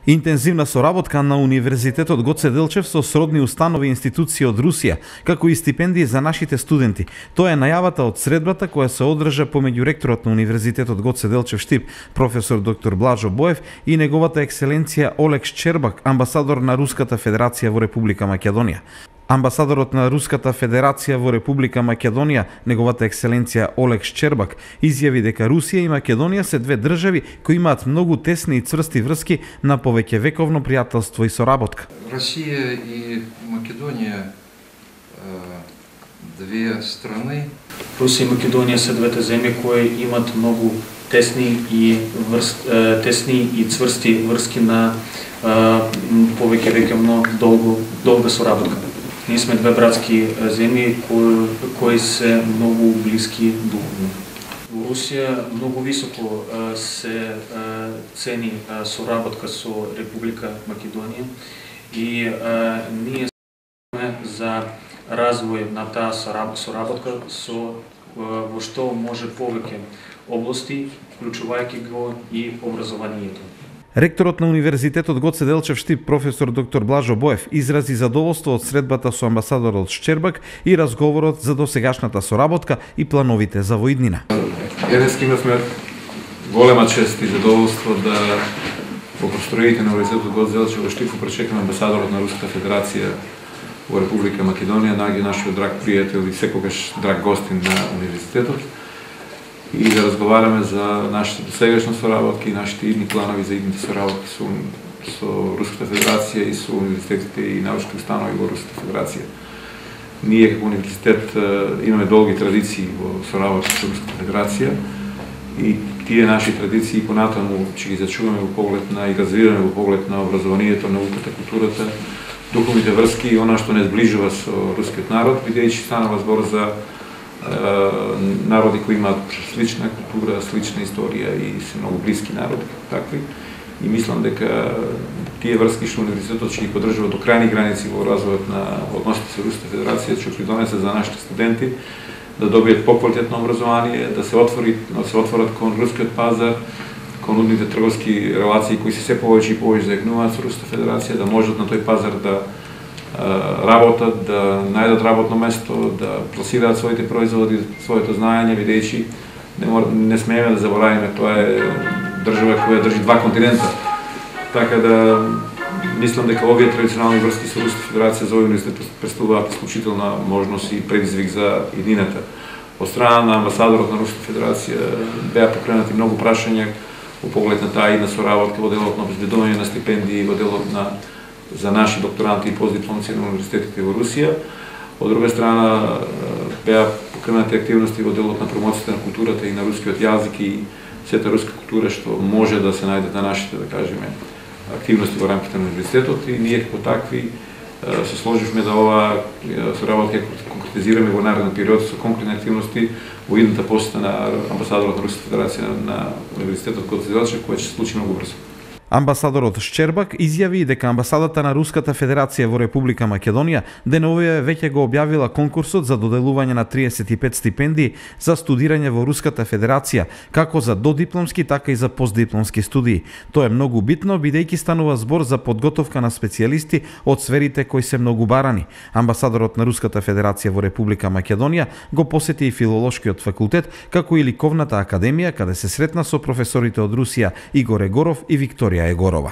Интензивна соработка на Универзитетот Гоце Делчев со сродни установи и институции од Русија, како и стипендии за нашите студенти. Тоа е најавата од средбата која се одржа помеѓу ректорот на Универзитетот Гоце Делчев Штип, професор доктор Блажо Боев и неговата екселенција Олег Шчербак, амбасадор на Руската Федерација во Република Македонија. Амбасадорот на Руската Федерација во Република Македонија, неговата екселенција Олег Шчербак, изјави дека Русија и Македонија се две држави кои имаат многу тесни и цврсти врски на повеќевековно пријателство и соработка. Русија и Македонија две страни. Русија и Македонија се двете земји кои имаат многу тесни и цврсти врски на повеќевековно долга соработка. Ние сме две братски земји кои се многу блиски духовно. Во Русија многу високо се цени соработка со Република Македонија и ние сме за развој на таа соработка во што може повеќе области, вклучувајќи го и образованието. Ректорот на Универзитетот Гоце Делчев Штип, професор доктор Блажо Боев, изрази задоволство од средбата со амбасадорот Шчербак и разговорот за досегашната соработка и плановите за воиднина. Еднески имавме голема чест и задоволство да во простроите на Универзитетот Гоце Делчев во Штип пречекаме амбасадорот на Руската Федерација во Република Македонија, најде нашиот драг пријател и секогаш драг гостин на универзитетот, и да разговараме за нашите досегашни соработки и нашите идни планови за идните соработки со Руската Федерација и со универзитетите и научни установи во Руската Федерација. Ние како универзитет имаме долги традиции во соработка со Руската Федерација и тие наши традиции понатаму ќе ги зачуваме во поглед на и развиваме во поглед на образованието, науката, културата, духовните врски и она што не зближува со рускиот народ, бидејќи станува збор за народи кои имаат слична култура, слична историја и се многу блиски народи како такви. И мислам дека тие врски што универзитетот ќе ги поддржува до крајни граници во развојот на односите со Руската Федерација ќе придонесе за нашите студенти да добијат поквалитетно образование, да се отворат кон рускиот пазар, кон нудните трговски релации кои се се повеќе и повеќе зајакнуваат со Руската Федерација, да можат на тој пазар да работат, да најдат работно место, да пласираат своите производи, своето знаење, бидејќи не смееме да заборавиме, тоа е држава која држи два континента. Така да мислам дека овие традиционални врски со Руската Федерација за овој универзитет представуваат исклучителна можност и предизвик за иднината. Од страна на амбасадорот на Руската Федерација беа покренати многу прашања во поглед на таа идна соработка во делот на обезбедување на стипендии, во делот на за наши докторанти и постдипломци на универзитетите во Русија. Од друга страна беа покренати активности во делот на промоцијата на културата и на рускиот јазик и сета руска култура што може да се најде на нашите, да кажеме, активности во рамките на универзитетот и ние како такви се сложивме да оваа соработка конкретизираме во нареден период со конкретни активности во идната посета на амбасадорот на Руската Федерација на Универзитетот Гоце Делчев, која ќе се случи многу брзо. Амбасадорот Шчербак изјави дека амбасадата на Руската Федерација во Република Македонија деновиве веќе го објавила конкурсот за доделување на 35 стипендии за студирање во Руската Федерација, како за додипломски, така и за постдипломски студии. Тоа е многу битно, бидејќи станува збор за подготовка на специјалисти од сферите кои се многу барани. Амбасадорот на Руската Федерација во Република Македонија го посети и Филолошкиот факултет, како и Ликовната академија, каде се сретна со професорите од Русија Игор Егоров и Викторија Егорова.